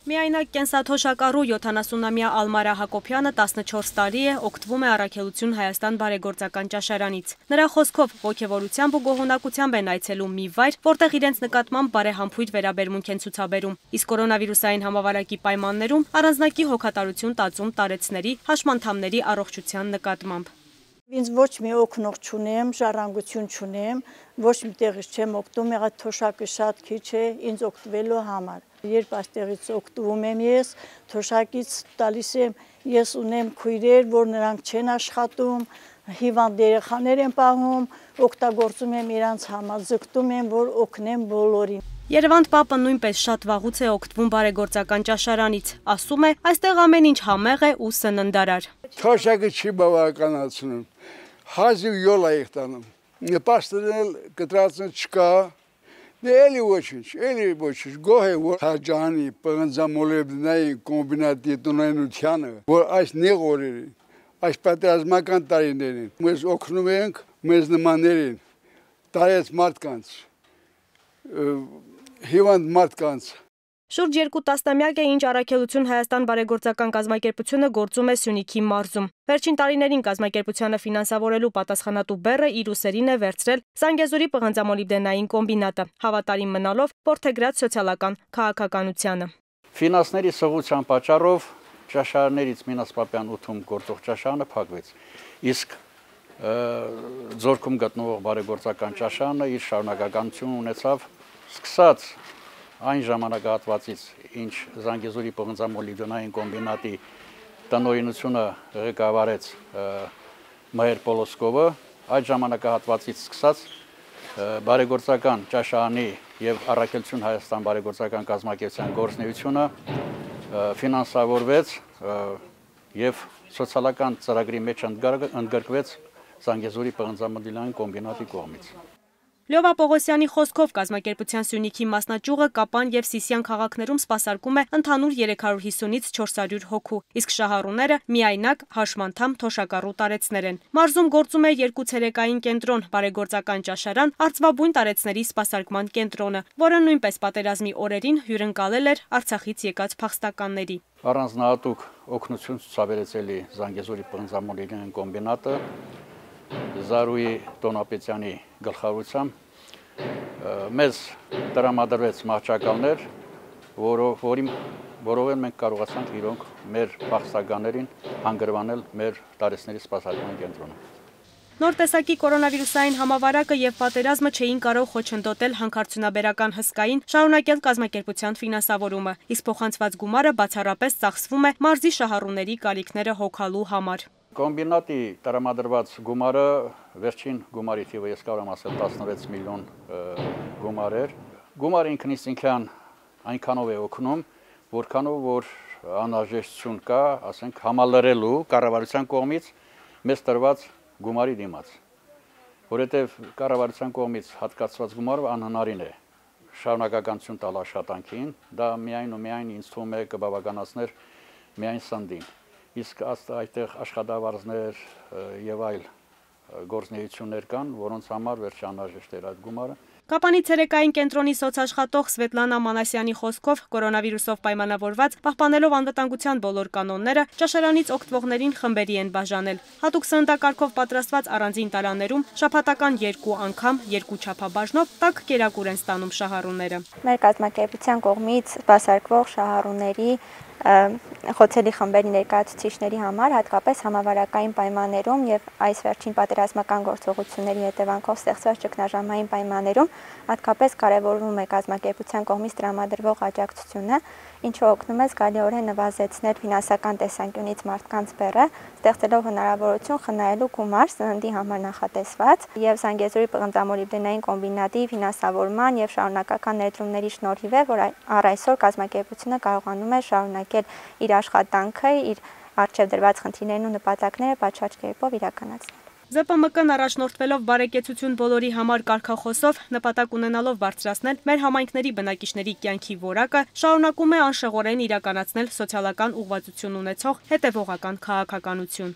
Միայնակ կենսաթոշակառու 70-ամյա Ալմարա Հակոբյանը 14 տարի է օգտվում է Առաքելություն Հայաստան բարեգործական ճաշարանից։ Նրա խոսքով ոգևորությամբ ու գոհունակությամբ են այցելում մի վայր, որտեղ իրենց նկատմամբ բարեհամբույր վերաբերմունք են ցուցաբերում։ Իսկ կորոնավիրուսային համավարակի պայմաններում առանձնակի հոգատարություն տածում տարեցների, հաշմանդամների առողջության նկատմամբ։ Ինձ ոչ մի օգնող չունեմ, ժառանգություն չունեմ, ոչ մի տեղից չեմ օգտվում, եղած թոշակը շատ քիչ է ինձ օգտվելու համար։ Երբ այստեղից օգտվում եմ ես, թոշակից տալիս եմ, ես ունեմ քույրեր, որ նրանք չեն աշխատում, հիվանդ երեխաներ են պահում, օգտագործում եմ իրանց համար, ձգտում եմ, որ օգնեմ բոլորին։ Երևանդ պապը նույնպես շատ վաղուց է օգտվում բարեգործական ճաշարանից, ասում է, այստեղ ամեն ինչ համեղ է ու սննդարար։ Թոշակը չի բավականացնում, հազիվ յոլ է տանում, նպաստել կտրածը չկա, էլի ոչինչ, գոհ է, որ հաջանի պղնձամոլեբնային կոմբինատի տնօրինությանը, որ այս նեղ օրերին, այս պատերազմական տարիներին, մեզ օգնում ենք մեզ նմաններին, տարեց մարդկանց, հիվանդ մարդկանց։ Շուրջ 2 տասնամյակ է ինչ Առաքելություն Հայաստան բարեգործական կազմակերպությունը գործում է Սյունիքի մարզում։ Վերջին տարիներին կազմակերպությանը ֆինանսավորելու պատասխանատու բեռը իր ուսերին է վերցրել Զանգեզուրի պղնձամոլիբդենային կոմբինատը, հավատարիմ մնալով որդեգրած սոցիալական քաղաքականությանը։ Ֆինանսների սղության պատճառով ճաշարաններից Մինաս Պապյան 8-ում գործող ճաշարանը փակվեց։ Իսկ Ձորքում գտնվող բարեգործական ճաշարանը իր շարունակականություն ունեցավ սկսած այն ժամանակահատվածից, ինչ Զանգեզուրի պղնձամոլիբդենային կոմբինատի տնօրինությունը ղեկավարեց Մհեր Պոլոսկովը, այդ ժամանակահատվածից սկսած բարեգործական ճաշարանի եւ Առաքելություն Հայաստան բարեգործական կազմակերպության գործունեությունը ֆինանսավորվեց եւ սոցիալական ծրագրի մեջ ընդգրկվեց Զանգեզուրի պղնձամոլիբդենային կոմբինատի կողմից։ Լյովա Պողոսյանի խոսքով կազմակերպության Սյունիքի մասնաճյուղը Կապան եւ Սիսիան քաղաքներում սպասարկում է ընդհանուր 350-ից 400 հոգու, իսկ շահառուները միայնակ հաշմանդամ թոշակառու տարեցներ են։ Մարզում գործում է 2 ցերեկային կենտրոն, բարեգործական ճաշարան, արծվաբույն տարեցների սպասարկման կենտրոնը, որը նույնպես պատերազմի օրերին հյուրընկալել էր Արցախից եկած փախստականների։ Առանձնահատուկ օգնություն ցուցաբերեց էլի Զանգեզուրի պղնձամոլիբդենային կոմբինատը Զարուհի Տոնապետյանի գլխավորությամբ մեզ տրամադրվեց մահճակալներ, որով մենք կարողացանք իրոնք մեր փախստականներին հանգրվանել մեր տարեցների սպասարկման կենտրոնում։ Նոր տեսակի կորոնավիրուսային համավարակը եւ պատերազմը չէին կարող խոչընդոտել հանքարդյունաբերական հսկային շարունակել կազմակերպության ֆինանսավորումը, իսկ փոխանցված գումարը բացառապես ծախսվում է մարզի շահառուների կարիքները հոգալու համար։ Կոմբինատի տրամադրված գումարը վերջին գումարի թիվը ես կարող եմ ասել 16 միլիոն գումար էր։ Գումարը ինքնին այնքանով է օգնում, որքանով որ անհրաժեշտություն կա, ասենք համալրելու կառավարության կողմից մեզ տրված գումարի դիմաց, որովհետև կառավարության կողմից հատկացված գումարը անհնարին է շարունակականություն տալ աշխատանքին, դա միայն ու միայն ինձ թվում է կբավականացներ միայն սննդին, իսկ այդտեղ աշխատավարձներ եւ այլ գործունեություններ կան, որոնց համար վերջ անհրաժեշտ էր այդ գումարը։ Կապանի ցերեկային կենտրոնի սոցաշխատող Սվետլանա Մանասյանի խոսքով կորոնավիրուսով պայմանավորված պահպանելով անվտանգության բոլոր կանոնները ճաշարանից օգտվողներին խմբերի են բաժանել։ Հատուկ սննդակարգով պատրաստված առանձին տարաներում շաբաթական 2 անգամ 2 չափաբաժնով տաք կերակուր են ստանում շահառուները։ Մեր կազմակերպության կողմից սպասարկվող շահառուների խոցելի խմբերի ներկայացուցիչների համար հատկապես համավարակային պայմաններում եւ այս վերջին պատերազմական գործողությունների հետևանքով ստեղծված ճգնաժամային պայմաններում հատկապես կարևորվում է կազմակերպության կողմից տրամադրվող աջակցությունը, ինչը օգնում է զգալիորեն նվազեցնել ֆինանսական տեսանկյունից մարդկանց բեռը, ստեղծելով հնարավորություն խնայելու գումար սննդի համար նախատեսված եւ Զանգեզուրի պղնձամոլիբդենային կոմբինատի ֆինանսավորման եւ շարունակական ներդրումների շնորհիվ է, որ առայսօր կազմակերպությունը կարողանում է շարունակել իր աշխատանքը, իր առջև դրված խնդիրներն ու նպատակները պատշաճ կերպով իրականացնել։ ԶՊՄԿ-ն առաջնորդվելով բարեկեցություն բոլորի համար կարգախոսով նպատակ ունենալով բարձրացնել մեր համայնքների բնակիչների կյանքի որակը, շարունակում է անշեղորեն իրականացնել սոցիալական ուղղվածություն ունեցող հետևողական քաղաքականություն։